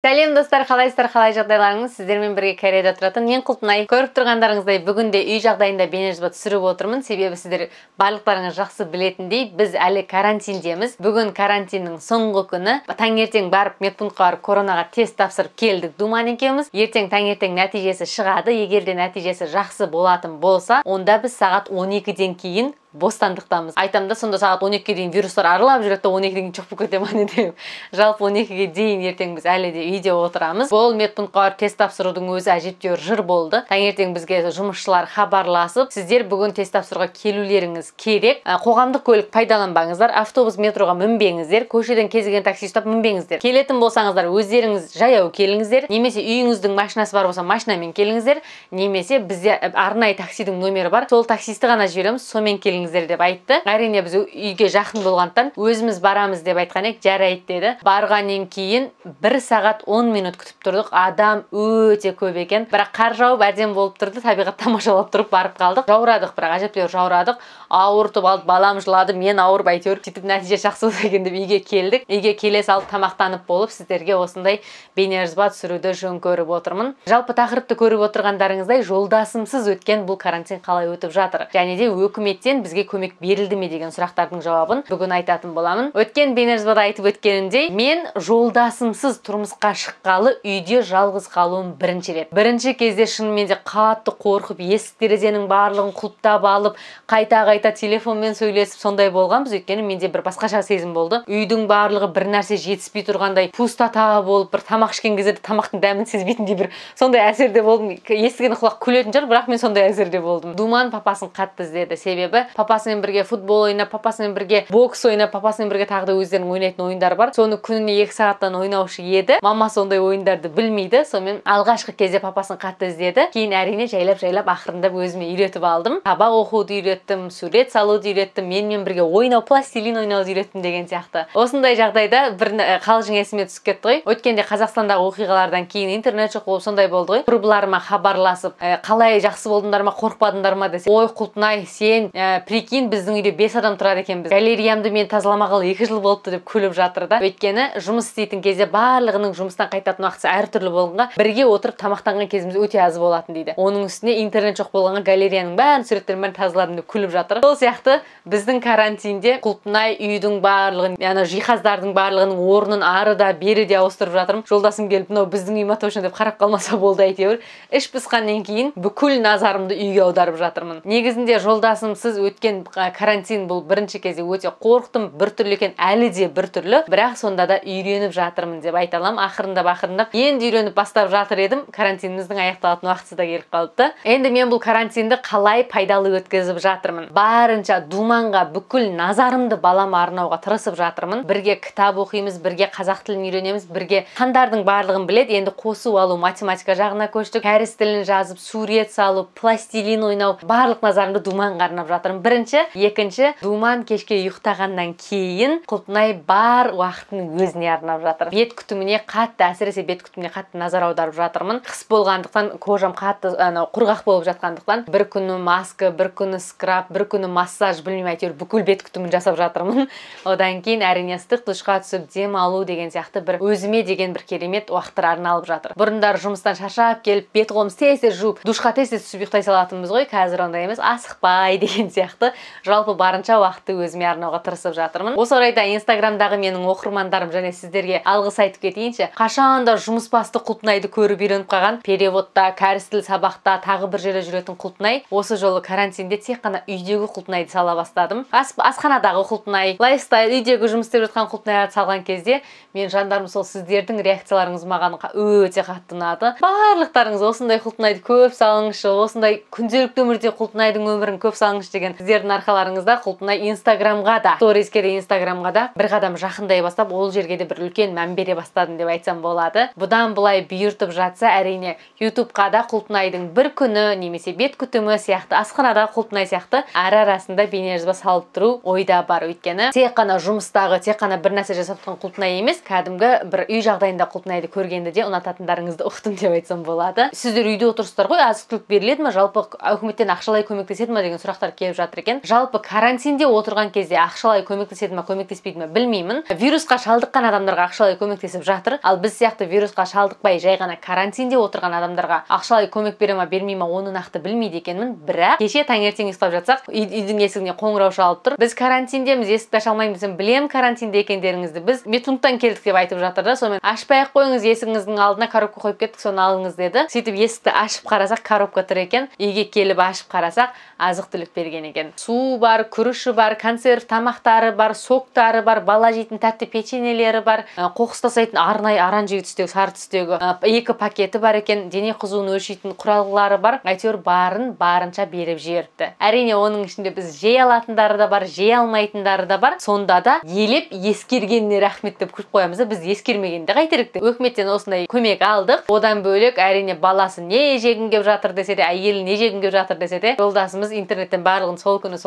Сәлем достар, қалайсыздар, қалай жағдайларыңыз? Сіздермен бірге Кореяда тұратын мен Құлпынай. Көріп тұрғандарыңыздай бүгінде үй жағдайында бейнежазба түсіріп отырмын. Себебі сіздер барлықтарыңыз жақсы білетіндей, біз әлі карантиндеміз. Бүгін карантиннің соңғы күні. Таңертең барып медпунктқа барып коронаға тест тапсырып келдік Думан екеуміз. Ертең таңертең нәтижесі шығады. Егер де нәтижесі жақсы болатын болса, онда біз сағат 12-ден кейін бостандықтамыз. Айтамда, сонда сағат 12-ге дейін вирустар аралап жүреді, 12-ден кейін жоқ болып кете ма не деп. Жалпы 12-ге дейін ертең біз әлі де үйде отырамыз. Бұл медпунктқа барып тест тапсырудың өзі әжептәуір жыр болды. Таңертең бізге жұмысшылар хабарласып, сіздер бүгін тест тапсыруға келулеріңіз керек. Қоғамдық көлік пайдаланбаңыздар, автобус, метроға мінбеңіздер, көшеден кез келген такси ұстап мінбеңіздер. Келетін болсаңыздар, өздеріңіз жаяу келіңіздер, немесе үйіңіздің машинасы бар болса, машинамен келіңіздер, немесе бізде арнайы таксидің номері бар. Сол таксисті ғана жібереміз, сонымен деп айтты. Әрине біз үйге жақын болғандықтан өзіміз барамыз деп айтқан едік, жарайды деді. Барғаннан кейін 1 сағат 10 минут күтіп тұрдық. Адам өте көп екен. Бірақ қар жауып әдемі болып тұрды. Табиғат тамашалап тұрып барып қалдық. Жаурадық, бірақ әжептәуір жаурадық. Ауыртып алды, балам жылады, мен ауырып әйтеуір сөйтіп нәтиже жақсы болды екен деп үйге келдік. Үйге келе салып тамақтанып болып сіздерге осындай бейнежазба түсіруді жөн көріп отырмын. Жалпы тақырыпты көріп отырғандарыңыздай жолдасымсыз өткен бұл карантин қалай өтіп жатыр? Және де үкіметтен бізге көмек берілді ме деген сұрақтардың жауабын бүгін айтатын боламын. Өткен бейнежазбада айтып өткенімдей, мен жолдасымсыз тұрмысқа шыққалы үйде жалғыз қалуым бірінші рет. Бірінші кезде шынымен де қатты қорқып, есік терезенің барлығын құлыптап алып, қайта телефонмен сөйлесіп сондай болғанбыз. Өйткені менде бір басқаша сезім болды. Үйдің барлығы бір нәрсе жетіспей тұрғандай, пустота болып, бір тамақ ішкен кезде тамақтың дәмін сезбейтіндей бір сондай әсерде болдым. Естіген құлақ күлетін шығар, бірақ мен сондай әсерде болдым. Думан папасын қатты іздеді. Себебі папасымен бірге футбол ойнап, папасымен бірге бокс ойнап, папасымен бірге тағы да өздерінің ойнайтын ойындар бар. Соны күніне 2 сағаттан ойнаушы еді. Мама сондай ойындарды білмейді. Сонымен алғашқы кезде папасын қатты іздеді. Кейін әрине жайлап ақырындап өзіме үйретіп алдым. Сабақ оқуды үйреттім, сурет салуды үйреттім, менімен бірге ойнау, пластилин ойнауды үйреттім деген сияқты. Осындай жағдайда бір қалжың есіме түсіп кетті ғой. Өткенде Қазақстандағы оқиғалардан кейін интернет жоқ болып сондай болды ғой. Құрбыларыма хабарласып, қалай жақсы болдыңдар ма, қорықпадыңдар ма десе, ой Құлпынай, сен прикинь, біздің үйде 5 адам тұрады екенбіз. Галереямды мен тазаламағалы 2 жыл болыпты деп күліп жатыр да. Өйткені жұмыс істейтін кезде барлығының жұмыстан қайтатын уақыты әртүрлі болғанға, бірге отырып тамақтанған кезіміз өте аз болатын дейді. Оның үстіне интернет жоқ болғанға галереяның бәрін суреттерін бәрін тазаладым деп күліп жатыр. Сол сияқты біздің карантинде Құлпынай үйдің барлығын, яғни жиһаздардың барлығының орнын ары да бері де ауыстырып жатырмын. Жолдасым келіп, мынау біздің үй ма точно деп қарап қалмаса болды әйтеуір. Іш пысқаннан кейін бүкіл назарымды үйге аударып жатырмын. Негізінде жолдасымсыз өткен карантин бұл бірінші кезде өте қорықтым, біртүрлі екен, әлі де біртүрлі, бірақ сонда да үйреніп жатырмын деп айта аламын. Ақырындап енді үйреніп бастап жатыр едім. Карантиніміздің аяқталатын уақыты да келіп қалыпты. Енді мен бұл карантинді қалай пайдалы өткізіп жатырмын? Барынша Думанға бүкіл назарымды балама арнауға тырысып жатырмын. Бірге кітап оқимыз, бірге қазақ тілін үйренеміз, бірге қандардың барлығын біледі. Енді қосу алу, математика жағына көштік. Кәріс тілін жазып, сурет салу, пластилин ойнау, барлық назарымды Думанға арнап жатырмын. Бірінші, екінші, Думан кешке ұйықтағаннан кейін Құлпынай бар уақытын өзіне арнап жатыр. Бет күтіміне қатты, әсіресе бет күтіміне қатты назар аударып жатырмын. Қыс болғандықтан, кожам қатты құрғақ болып жатқандықтан, бір күні маска, бір күні скраб, бір күні массаж, білмеймін, әйтеуір бүкіл бет күтімін жасап жатырмын. Одан кейін әрине ыстық душқа түсіп дем алу деген сияқты бір өзіме деген бір керемет уақыттар арналып жатыр. Бұрындар жұмыстан шаршап келіп, бет қолымыз тез жуып, душқа тез түсіп ұйықтай салатынбыз ғой. Қазір ондай емес, асықпай деген сияқты жалпы барынша уақытты өзіме арнауға тырысып жатырмын. Осы орайда Инстаграмдағы менің оқырмандарым және сіздерге алғыс айтып кетейінші. Қашанда жұмыс басты Құлпынайды көріп үйреніп қалған, переводта, кәріс тіл сабақта, тағы бір жерде жүретін Құлпынай, осы жолы карантинде тек қана үйдегі Құлпынайды сала бастадым. Асханадағы Құлпынай, лайфстайл, үйдегі жұмыс істеп жатқан Құлпынайды салған кезде мен жандарым сол сіздердің реакцияларыңыз маған өте қатты ұнады. Барлықтарыңыз осындай Құлпынайды көп салыңызшы, осындай күнделікті өмірде Құлпынайдың өмірін көп салыңызшы деген сіздердің арқаларыңызда Құлпынай Инстаграмға да, сториске де Инстаграмға да бір қадам жақындай бастап, ол жерге де бір үлкен мән бере бастадым деп айтсам болады. Бұдан былай бұйыртып жатса, әрине ютубқа да Құлпынайдың бір күні немесе бет күтімі сияқты, асханада Құлпынай сияқты ара-арасында бейнежазба салып тұру ойда бар. Өйткені тек қана жұмыстағы, тек қана бір нәрсе жасап тұрған Құлпынай емес, кәдімгі бір үй жағдайында Құлпынайды көргенде де ұнататындарыңызды ұқтым деп айтсам болады. Сіздер үйде отырсыздар ғой, азық-түлік беріледі ме, жалпы үкіметтен ақшалай көмектеседі ме деген сұрақтар келіп жатыр жатыр екен. Жалпы карантинде отырған кезде ақшалай көмектеседі ме, көмектеспейді ме білмеймін. Вирусқа шалдыққан адамдарға ақшалай көмектесіп жатыр. Ал біз сияқты вирусқа шалдықпай жай ғана карантинде отырған адамдарға ақшалай көмек бере ме, бермей ме, оны нақты білмейді екенмін. Бірақ кеше таңертең ұйықтап жатсақ, үйдің есігіне қоңырау шалып тұр. Біз карантиндеміз, есікті аша алмаймыз. Білем карантинде екендеріңізді. Біз медпункттан келдік деп айтып жатыр да. Сонымен ашпай-ақ қойыңыз, есігіңіздің алдына коробка қойып кеттік, соны алыңыз деді. Сөйтіп есікті ашып қарасақ, коробка тұр екен. Үйге келіп ашып қарасақ, азық-түлік берген екен. Су бар, күріші бар, консерв тамақтары бар, соктары бар, бала жейтін тәтті печеньелері бар, қоқыс тастайтын арнайы оранжевый түстегі, сары түстегі 2 пакеті бар екен. Дене қызуын өлшейтін құралғылары бар. Әйтеуір барын барынша беріп жіберіпті. Әрине оның ішінде біз жей алатындары да бар, жей алмайтындары да бар. Сонда да елеп ескергеніне рахмет деп күліп қоямыз. Біз ескермегенде қайтерік деп. Өкіметтен осындай көмек алдық. Одан бөлек әрине баласы не жегін кеп жатыр десе де, әйелі не жегін кеп жатыр десе де, жолдасымыз интернеттен барлығын сол күні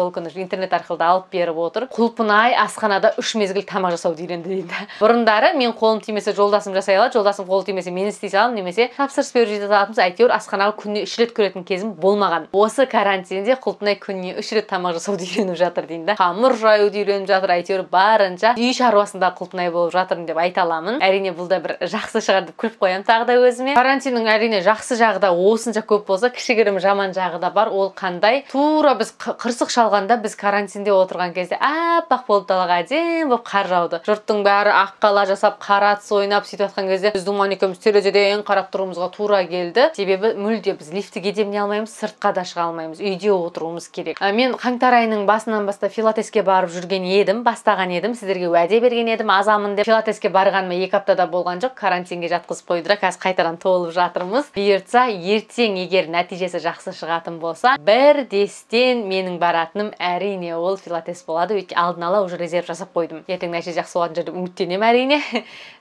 интернет арқылы алып беріп отыр. Құлпынай асханада 3 мезгіл тамақ жасауды үйренді дейді. Бұрындары мен қолым тимесе жолдасым жасай алады, жолдасым қолы тимесе мен істей саламын, немесе тапсырыс беріп жете алатынбыз. Әйтеуір асханаға күніне 3 рет кіретін кезім болмаған. Осы карантинде Құлпынай күніне 3 рет тамақ жасауды үйреніп жатыр дейді. Қамыр жаюды үйреніп жатыр. Әйтеуір барынша үй шаруасында Құлпынай болып жатырмын деп айта аламын. Әрине бұл да бір жақсы шығар деп күліп қоямын тағы да өзіме. Карантиннің әрине жақсы жағы да осынша көп болса, кішігірім жаман жағы да бар. Ол қандай? Тура біз қырсық шалғанда, біз карантинде отырған кезде аппақ болып далаға әдемі болып қар жауды. Жұрттың бәрі ақ қала жасап, қара атыс ойнап сөйтіп жатқан кезде біздің манекеміз терезеден қарап тұруымызға тура келді. Себебі мүлде біз лифтіге деміне алмаймыз, сыртқа да шыға алмаймыз, үйде отыруымыз керек. Мен қаңтар айының басынан бастап пилатеске барып жүрген едім, бастаған едім, сіздерге уәде берген едім, азамын деп. Пилатеске барғаныма 2 аптада болған жоқ, карантинге жатқызып қойды. Қазір қайтадан толып жатырмыз. Бұйыртса, ертең егер нәтижесі жақсы шығатын болса, бірдестен менің баратыным әрине ол пилатес болады. Өйткені алдын ала уже резерв жасап қойдым. Ертең нәтиже жақсы болатын жерде үміттенемін әрине.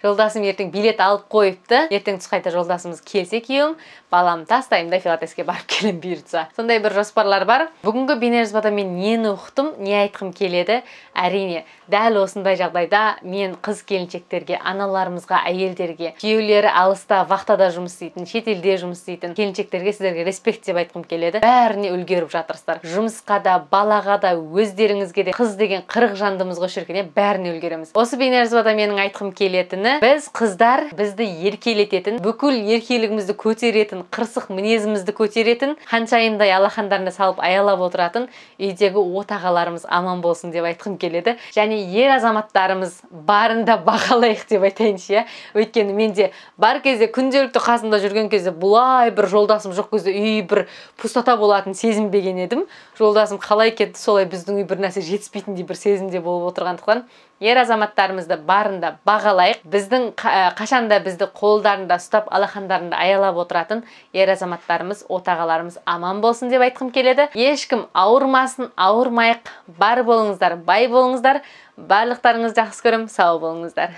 Жолдасым ертең билет алып қойыпты. Ертең түс қайта жолдасымыз келсе күйеуім, балам тастаймын да пилатеске барып келем бұйыртса. Сондай бір жоспарлар бар. Бүгінгі бейнежазбада мен нені ұқтым, не айтқым келеді? Әрине, дәл осындай жағдайда мен қыз келіншектерге, аналарымызға, әйелдерге, күйеулері алыста, вахтада жұмыс істейтін, шетелде жұмыс істейтін келіншектерге сіздерге респект деп айтқым келеді. Бәріне үлгеріп жатырсыздар. Жұмысқа да, балаға да, өздеріңізге де, қыз деген 40 жандымызға шіркіне бәріне үлгереміз. Осы бейнежазбада менің айтқым келетіні, біз қыздар бізді еркелететін, бүкіл еркелігімізді көтеретін, қырсық мінезімізді көтеретін, ханшайымдай алақандарына салып аялап отыратын үйдегі отағаларымыз аман болсын деп айтқым келеді. Және ер азаматтарымыз барында бағалайық деп айтайыншы. Өйткені менде бар кезде, күнделікті қасында жүрген кезде бұлай бір жолдасым жоқ кезде үй бір пустота болатын сезінбеген едім. Жолдасым қалай кетті, солай біздің үй бір нәрсе жетіспейтіндей бір сезімде болып отырғандықтан ер азаматтарымызды барында бағалайық. Біздің қашанда бізді қолдарында ұстап, алақандарында аялап отыратын ер азаматтарымыз, отағаларымыз аман болсын деп айтқым келеді. Ешкім ауырмасын, ауырмайық. Бар болыңыздар, бай болыңыздар. Барлықтарыңызды жақсы көрем, сау болыңыздар.